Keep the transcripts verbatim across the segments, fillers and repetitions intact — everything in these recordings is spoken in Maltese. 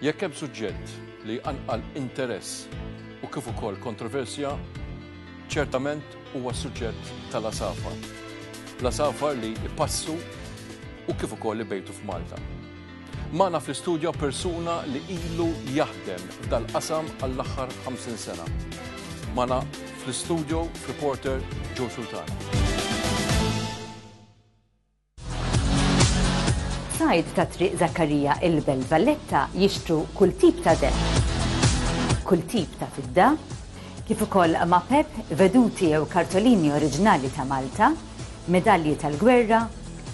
Jekk hemm suġġett li jqanqal interess u kif ukoll kontroversja, ċertament huwa s-suġġett tal-għasafar. L-għasafar li jpassu u kif ukoll ibejtu f'Malta. Magħna fl-istudjo persuna li ilu jaħdem f'dal-qasam għall-aħħar ħamsin sena. Magħna fl-istudjo reporter Joe Sultana. Sajd ta' Triq Zakkarija, il-Belt Valletta, jixtru kull tip ta' deheb, kull tip ta' fidda, kif ukoll mapep, veduti jew kartolini oriġinali ta' Malta, medalji tal-gwerra,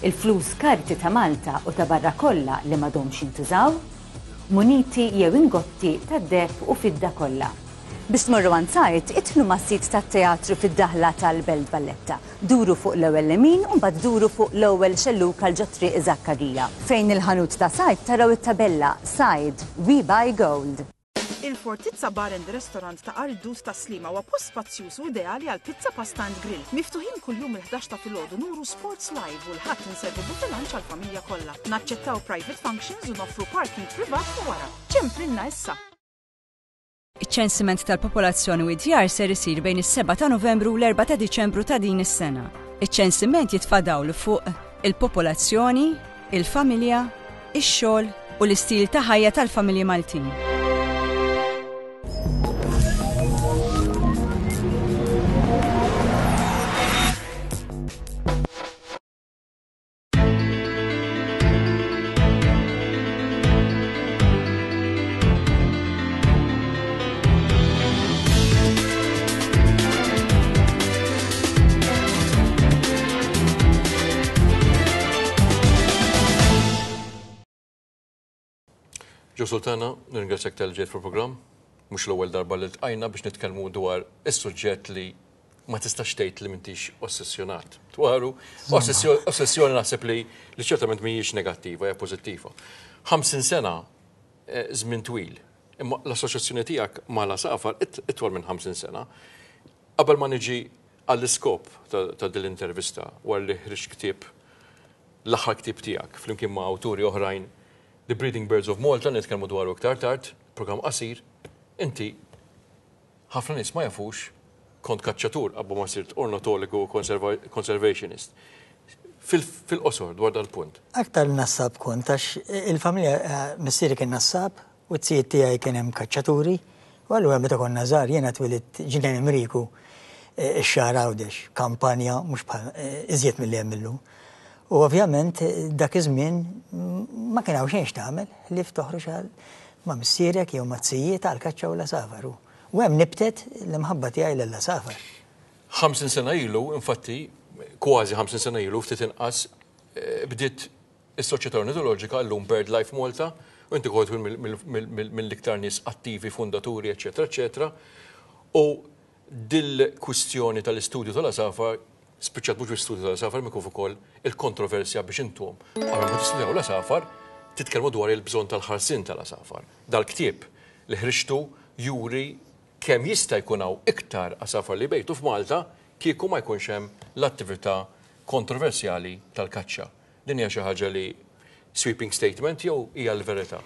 il-flus karti ta' Malta u ta' barra kollha li m'għadhomx jintużaw, muniti jew ingotti ta' deheb u fidda kollha. Biex tmorru għand Sajd, idħlu mas-sit tat-teatru fid-daħla tal-Belt Valletta. Duru fuq l-ewwel lemin u mbagħad duru fuq l-ewwel xellug għal ġo Triq Zakkarija. Fejn il-ħanut ta' Sajd taraw it-tabella "Sajd, We Buy Gold". Il-Fortizza Bar and Restaurant ta' Ardut ta' Sliema huwa post spazjuż u ideali għal pizza, pasta and grill. Miftuħin kuljum il-ħdax ta' filgħodu, nuru sports live u l-Ħadd inservu buffet lunch għall-familja kollha. Naċċettaw private functions u noffru parking privat u wara. Ċemplilna issa! Iċ-ċensiment tal-popolazzjoni u d-djar ser isir bejn is-sebgħa ta' Novembru u l-erbgħa ta' Diċembru ta' din is-sena. Iċ-ċensiment jitfa' dawl fuq il-popolazzjoni, il-familja, ix-xogħol u l-istil ta' ħajja tal-familji Maltin. Joe Sultana, nirringrazzjak talli ġejt fil-programm. Mhux l-ewwel darba li ltqajna biex nitkellmu dwar is-suġġett li ma tistax tgħid li m'intix ossessjonat dwaru. Ossessjoni naħseb li li ċertament mhijiex negattiva, hija pożittiva. ħamsin sena eh, żmien twil. Imma l-assoċjazzjoni tiegħek mal-għasafar itwal minn ħamsin sena. Qabel ma niġi għall-iskop ta' din l-intervista, wara li ħriġt ktieb, l-aħħar ktieb tiegħek flimkien ma' awturi oħrajn, The Breeding Birds of Malta, nitkellmu dwaru iktar tard, programm qasir, inti, ħafna nies ma jafux, kont kaċċatur qabel ma sirt ornitologu u conservationist. Fil-qosor dwar dal-punt. Aktar nassab kont, għax il-familja, eh, missieri kien nassab u t-sijiet tiegħi kien hemm kaċċaturi, u allura meta konna żgħar, jiena twelidt Ġnien Imriku, eh, ix-Xagħra Għawdex, kampanja mhux bħal eh, iżjed milli hemm illum. U ovvjament dak iż-żmien ma kien hawn xejn x'tagħmel li toħroġ għal ma' missierek jew ma' tzijiet għal kaċċa u l-għasafar. U hemm nibtet l-imħabba tiegħi lill-għasafar. ħamsin sena ilu, infatti, kważi ħamsin sena ilu, ftit inqas, eh, bdiet is-Soċjetà Ornitoloġika, llum BirdLife Malta, u inti kont mill-iktar nies attivi, fundaturi, eċetera, eċetera. U dil-kwistjoni tal-istudju tal-għasafar spiċċat mhux l-istudju tal-għasafar, imma kif ukoll il-kontroversja biex intom, qabel ma tistudjaw l-għasafar, titkellmu dwar il-bżonn tal-ħarsien tal-għasafar. Dal-ktieb li ħriġtu juri kemm jista' jkun hawn iktar għasafar li bejtu f'Malta kieku ma jkunx hemm l-attività kontroversjali tal-kaċċa. Din hija xi ħaġa li sweeping statement jew hija l-verità?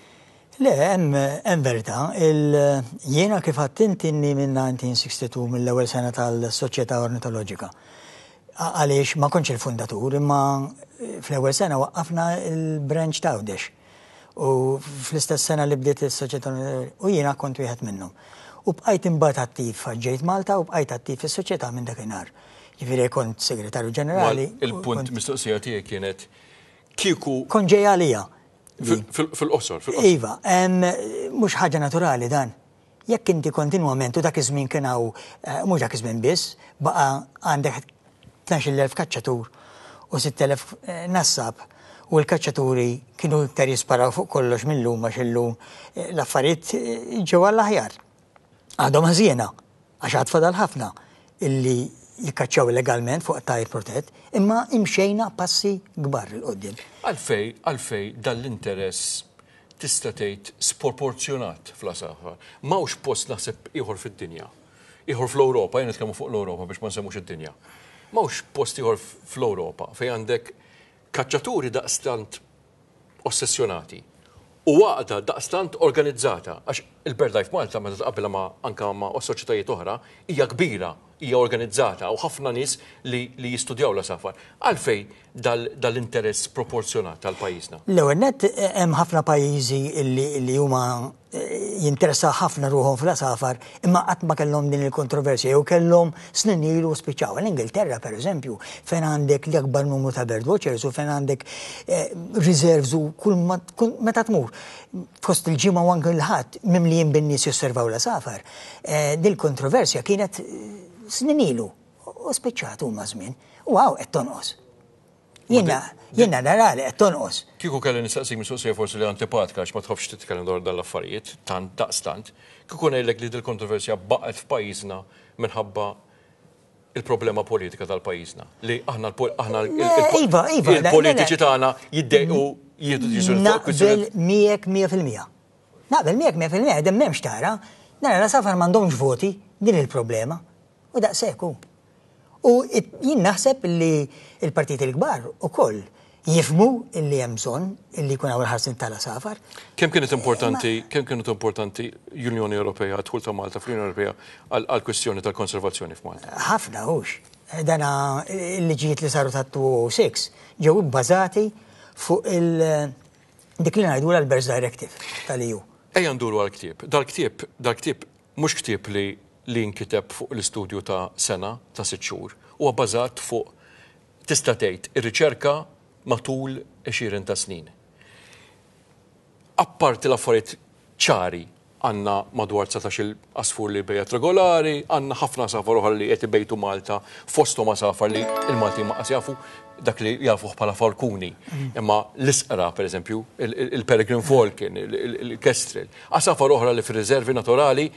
Le, hemm verità. Jiena, kif għedt inti, minn elf disa' mija u sitta u sittin, mill-ewwel sena tal-Soċjetà Ornitoloġika. Għaliex ma kontx il-fundatur, imma fl-ewwel sena waqqafna il-branch ta' Għawdex. U fl-istess sena li bdiet is-Soċjetà, u jiena kont wieħed minnhom. U bqajt imbagħad attiv, ġejt Malta u bqajt attiv fis-soċjetà minn dakinhar. Ġifieri kont segretarju ġenerali. Il-punt mistoqsija tiegħi kienet kieku. Kont ġej għalija. Fil-qosor, fil-qosor. Iva, mhux ħaġa naturali dan. Jekk inti kontinwament, u dak iż-żmien kien hawn, eh, mhux dak iż-żmien biss, baqa' għandek tnax-il elf kaċċatur u sitt elef eh, nassab, u l-kaċċaturi kienu iktar jisparaw fuq kollox mill-lum, għax illum eh, l-affarijiet ġew għall-aħjar. Għadhom ħżiena, għax għad fadal ħafna illi jikkaċċaw illegalment fuq tajr protett, imma imxejna passi kbar 'il quddiem. Għalfej, għalfej dal-interess tista' tgħid sproporzjonat fl-għasafar? M'hawnx post naħseb ieħor fid-dinja. Ieħor fl-Ewropa, jien nitkellmu fuq l-Ewropa biex ma nsemmux id-dinja. M'hawnx post ieħor fl-Ewropa fejn għandek kaċċaturi daqstant ossessjonati U għaqda daqstant organizzata, għax il-BirdLife Malta meta tqabbilha ma' anka ma' soċjetajiet oħra, hija kbira, hija organizzata u ħafna nies li, li jistudjaw l-għasafar. Għalfejn dal-interess proporzjonat tal-pajjiżna? L-ewwel net, hemm ħafna pajjiżi li huma eh, jinteressa ħafna ruħhom fl-għasafar, imma qatt ma kellhom din il-kontroversja jew kellhom snin ilu spiċċaw. L-Ingilterra, pereżempju, fejn għandek l-akbar numru ta' bird watchers u fejn għandek eh, reserves u kull meta tmur fost il-ġimgħa u anke l-Ħadd mimlijin bin-nies josservaw l-għasafar. Eh, dil-kontroversja kienet snin ilu u spiċċat huma żmien. U hawn qed tonqos. Jiena, jiena nara li qed tonqos. Kieku kelli nistaqsik mistoqsija forsi li antipatika, għax ma tħobbx titkellem dwar dal-affarijiet, tant daqstant, kieku ngħidlek li dil-kontroversja baqgħet f'pajjiżna minħabba il-problema politika tal-pajjiżna. Li aħna aħna Iva, iva, il-politiċi tagħna jiddejqu jieħdu deċiżjoni fuq Naqbel kwistjoni. miegħek mija fil-mija. Naqbel miegħek mija fil-mija, dem m'hemmx tara. Nara l-għasafar m'għandhomx voti, din il-problema. U daqshekk hu. U it- jien naħseb li il-partiti l-kbar ukoll jifhmu illi hemm bżonn illi jkun hawn il-ħarsien tal-għasafar. Kemm kienet importanti, kemm kienet importanti l-Unjoni Ewropea, dħul ta' Malta fl-Unjoni Ewropea għal-kwistjoni tal-konservazzjoni f'Malta? Ħafna hux. Dana il-liġijiet li saru ta' elfejn u sitta ġew ibbażati fuq il- dik li ngħidu l-Birds Directive tal-E U. Ejja nduru għal-ktieb. Dal-ktieb, dal-ktieb mhux ktieb li li nkiteb fuq l-istudju ta' sena, ta' sitt xhur, huwa bbażat fuq, tista' tgħid, ir-riċerka matul għexieren ta' snin. Apparti l-affarijiet ċari, għandna madwar dsatax-il għasfur li bejjet regolari, għandna ħafna għasafar oħra li qed ibejtu Malta, fosthom għasafar li il-Malti ma jafu dak li jafuh bħala falkuni. Imma l-isqra, per eżempju, il-peregrine falcon, il-kestrel, għasafar oħra li fir-riservi naturali.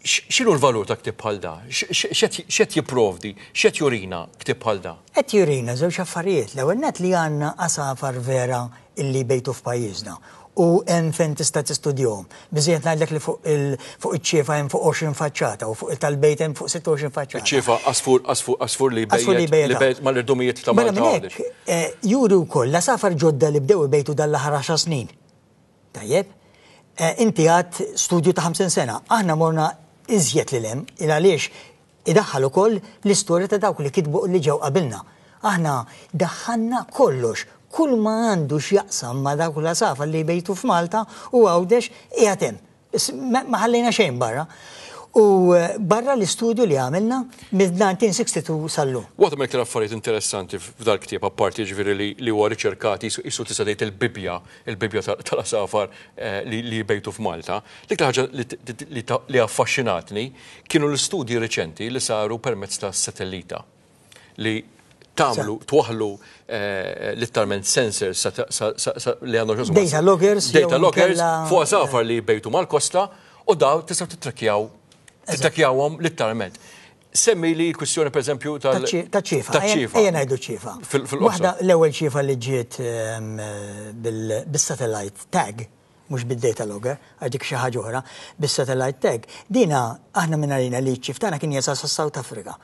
X'inhu l-valur ta' ktib bħal da? X'qed jipprovdi? X'qed jurina ktib bħal da? Qed jurina żewġ affarijiet. L-ewwel net, li għandna għasafar vera illi bejtu f'pajjiżna u hemm fejn tista' tistudjahom. Biżejjed ngħidlek li fuq fuq iċ-ċiefa hemm fuq għoxrin faċċata u fuq il-tal-bejt hemm fuq sitta u għoxrin faċċata. Iċ-ċiefa għasfur għasfur għasfur li bejjet li bejjet mal-irdumijiet ta' Malta. Minn hekk eh, juri wkoll l-għasafar ġodda li bdew ibejtu dal-aħħar għaxar snin. Tajjeb, eh, inti għad studju ta' ħamsin sena, aħna morna iżjed lil hemm, il għaliex idaħħal ukoll l-istorja ta' dawk li kitbu li ġew qabilna. Aħna daħħalna kollox, kull ma għandu x'jaqsam ma' dawk l-għasafar li bejtu f'Malta u Għawdex qiegħed hemm. Ma ħallejna xejn barra. U eh, barra l-istudju li għamilna mill-elf disa' mija u sitta u sittin sal-lum. Waħda mill affarijiet interessanti f'dal ktieb, apparti ġifieri li huwa riċerkati, jisu tista' tgħid il-Bibja, il-Bibja tal-għasafar eh, li jbejtu f'Malta. Dik ħaġa li affaxxinatni kienu l-istudji riċenti li saru permezz ta' satellita li tagħmlu, twaħlu eh, literalment sensors li għandhom Data loggers. Data loggers fuq għasafar li jbejtu mal-kosta u daw tistgħu tittrakkjaw tittrakkjawhom literalment. Semmi li kwistjoni, per eżempju, tal Ta' ċiefa. Ta' ċiefa. Ejja ngħidu ċiefa. Waħda, l-ewwel ċiefa li ġiet ehm, bil-satellite tag, mhux bid-data logger, għax dik xi ħaġa oħra, bis-satellite tag. Dina aħna minn għalina li ċ-ċief tagħna kien jasal sa South Africa.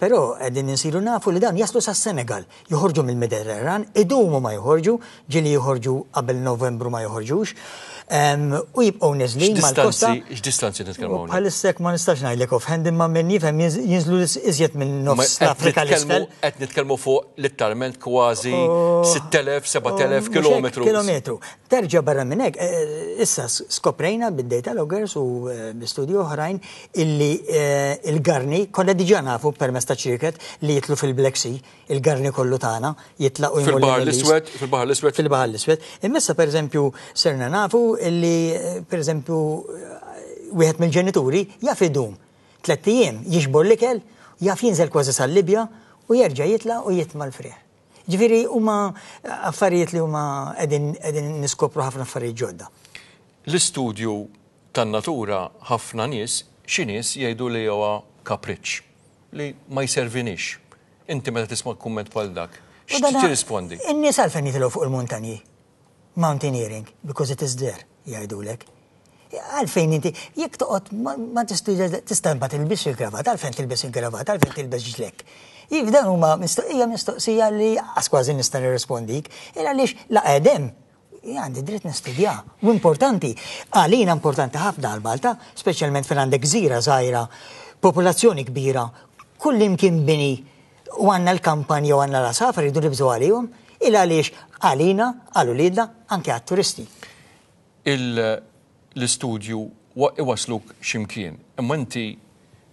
Però qegħdin insiru nafu li dawn jaslu sa Senegal, joħorġu mill-Mediterran, idumu ma joħorġu, ġieli joħorġu qabel Novembru ma joħorġux, u jibqgħu neżlin mal-kosta. X'distanzi nitkellmu? Bħalissa ma nistax ngħidlek offhand, imma minn jifhem jinżlu iżjed minn nofs l-Afrika l-isfel. Qed nitkellmu fuq literalment kważi sitt elef, seba' elef kilometru. Kilometru. Terġa' barra minn hekk, eh, issa skoprejna bid-data loggers u eh, bi-studju oħrajn illi eh, il-garni, konna diġà nafu permezz ta' ċrieket li jitlu fil-Black Sea, il-garni kollu tagħna jitlaqu. Fil-Baħar l-Iswed, fil-Baħar l-Iswed. Fil-Baħar l-Iswed. Imma per eżempju sirna nafu illi, per eżempju, wieħed mill-ġenituri jaf idum tlett ijiem jiġbor l-ikel, jaf jinżel kważi sal-Libja u jerġa' jitla' u jitma' l-frieħ. Ġifieri huma affarijiet li huma qegħdin niskopru ħafna affarijiet ġodda. L-istudju tan-natura, ħafna nies, xi nies jgħidu li huwa kapriċ, li ma jservinix. Inti meta tisma' kumment bħal dak, x'tirrispondi? In-nies għalfejn jitilgħu fuq il-muntanji? Mountaineering, because it is there, jgħidulek. Għalfejn inti, jekk toqgħod ma tista' ma tilbis il-kravat, għalfejn tilbis il-kravat, għalfejn tilbis ġlekk? Jif dan huma hija mistoqsija li kważi nista' nirrispondik, il għaliex la qedem Għandi dritt nistudja. U importanti, għalina importanti ħafna għal Malta, speċjalment fejn għandek gżira żgħira, popolazzjoni kbira, kull imkien bini u għandna l-kampanja u għandna l-għasafar jridu nibżgħu għalihom, il għaliex għalina, għal uliedna, anke għat-turisti. L-istudju iwasluk x'imkien, imma inti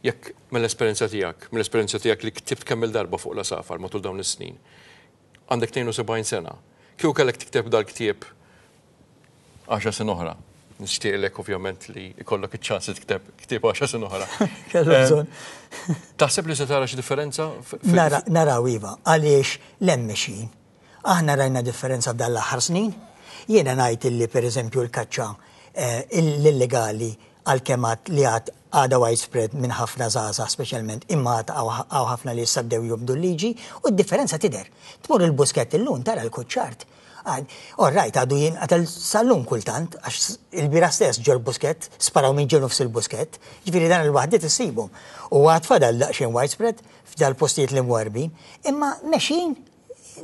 jekk mill-esperjenza tiegħek, mill-esperjenza tiegħek li ktibt kemm il-darba fuq l-għasafar matul dawn is-snin, għandek tnejn u sebgħin sena, kieku kellek tikteb dal-ktieb għaxar sena oħra. Nixtieqlek ovvjament li jkollok iċ-ċans li tikteb ktieb għaxar sena oħra. Kellu bżonn. Taħseb li se tara xi differenza? Naraw iva, għaliex l-hemm mexjin. Aħna rajna differenza f'dan l-aħħar snin. Jiena ngħid illi pereżempju l-kaċċa l-illegali għalkemm għad li għad għadha widespread minn ħafna żgħażagħ speċjalment, imma għad hawn ħafna li issa bdew jobdu l-liġi u d-differenza tidher. Tmur il-buskett illum tara l-kuċċart. All right, għadu jinqatel sal-lum kultant, għax il-bira stess ġol buskett, sparaw minn ġol nofs il-buskett, ġifieri dan il-waħdiet issibhom. U għad fadal daqsxejn widespread f'dal postijiet li mwarbin, imma mexjin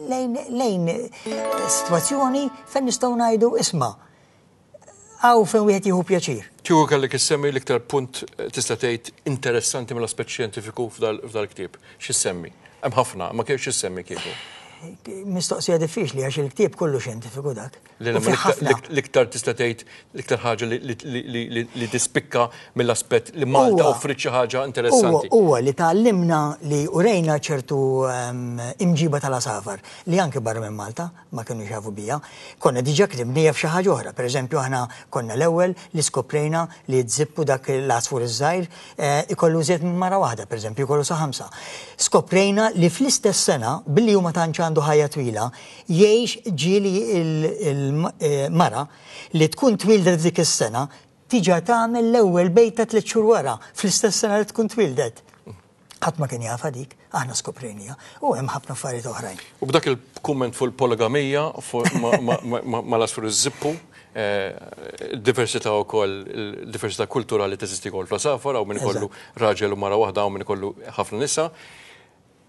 lejn, lejn situazzjoni fejn nistgħu ngħidu isma' għaw fejn wieħed jieħu pjaċir. Kieku kellek issemmi l-iktar punt tista' tgħid interessanti mill-aspett xjentifiku f'dal-ktieb. X'issemmi? Hemm ħafna, ma kienx x'issemmi kieku. Mistoqsija diffiċli għax il-ktieb kollu xjentifiku dak. L-iktar tista' tgħid l-iktar ħaġa li tispikka mill-aspett li Malta offrit xi ħaġa interessanti. Huwa li tgħallimna li urejna ċertu imġiba tal-għasafar li anke barra minn Malta ma kienu jafu bija. Konna diġà ktibnija f'xi ħaġa oħra. Pereżempju aħna konna l-ewwel li skoprejna li tżippu dak l-għasfur iż-żgħir ikollu żied minn mara waħda, pereżempju jkollu sa ħamsa. Skoprejna li fl-istess sena billi huma tantx għandu ħajja twila, jgħix ġieli il-mara li tkun twildet dik is-sena tiġa tagħmel l-ewwel bejta tliet xhur wara fl-istess sena li tkun twildet. Ħadd ma kien jafha dik, aħna skoprejnija u hemm ħafna affarijiet oħrajn. U b'dak il-kumment fuq il-poligamija mal-għasfur iż-żippu, diversità wkoll, diversità kulturali teżisti wkoll fl-għasafar, hawn min ikollu raġel u mara waħda, hawn min ikollu ħafna nisa.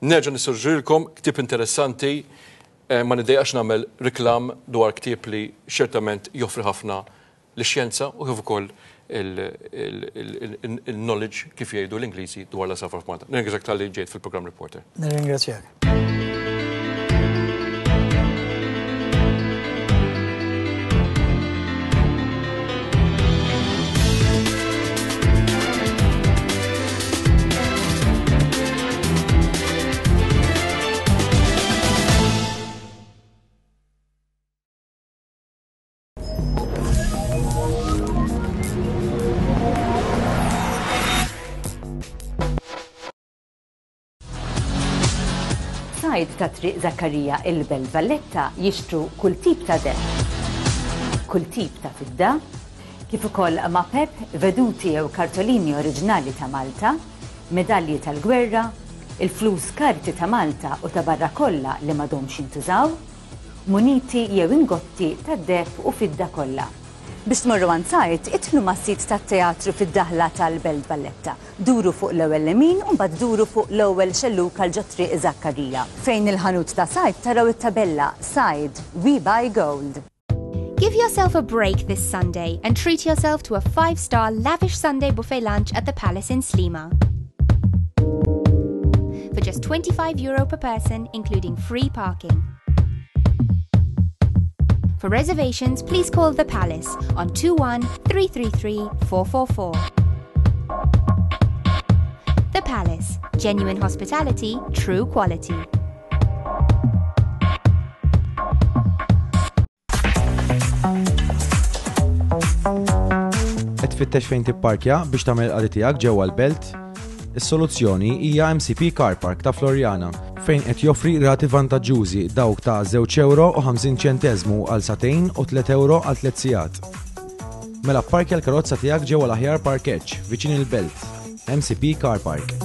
Nerġa' nissuġġerilkom ktieb interessanti, ma niddejqax nagħmel reklam dwar ktieb li ċertament joffri ħafna lix-xjenza u kif ukoll il-knowledge kif jgħidu l-Ingliżi dwar l-għasafar f'Malta. Nirringrazzjak talli ġejt fil-programm Reporter. Nirringrazzjak. Sajd ta' Triq Zakkarija il-Belt Valletta jixtru kull tip ta' deheb, kull tip ta' fidda, kif ukoll mapep, veduti jew kartolini oriġinali ta' Malta, medalji tal-gwerra, il-flus karti ta' Malta u ta' barra kollha li m'għadhomx jintużaw, muniti jew ingotti tad-deheb u fidda kollha. Biex tmorru għand Sajd, idħlu mas-sit tat-teatru fid-daħla tal-Belt Valletta. Duru fuq l-ewwel lemin u mbagħad duru fuq l-ewwel xelluk għal ġo Triq Zakkarija. Fejn il-ħanut ta' Sajd taraw it-tabella Sajd, We Buy Gold. Give yourself a break this Sunday and treat yourself to a five-star lavish Sunday buffet lunch at the Palace in Sliema. For just twenty-five euro per person, including free parking. For reservations, please call the Palace on two one three three three four four four. The Palace, genuine hospitality, true quality. Qed tfittex fejn tipparkja biex tagħmel il-qadi tiegħek ġewwa l-belt? Is-soluzzjoni hija M C P Car Park ta' Floriana, fejn qed joffri rati vantaġġużi dawk ta' żewġ euro u ħamsin ċenteżmu għal sagħtejn u tliet euro għal tliet sigħat. Mela pparkja l-karozza tiegħek ġewwa l-aħjar parkeġġ viċin il-belt. M C P Car Park.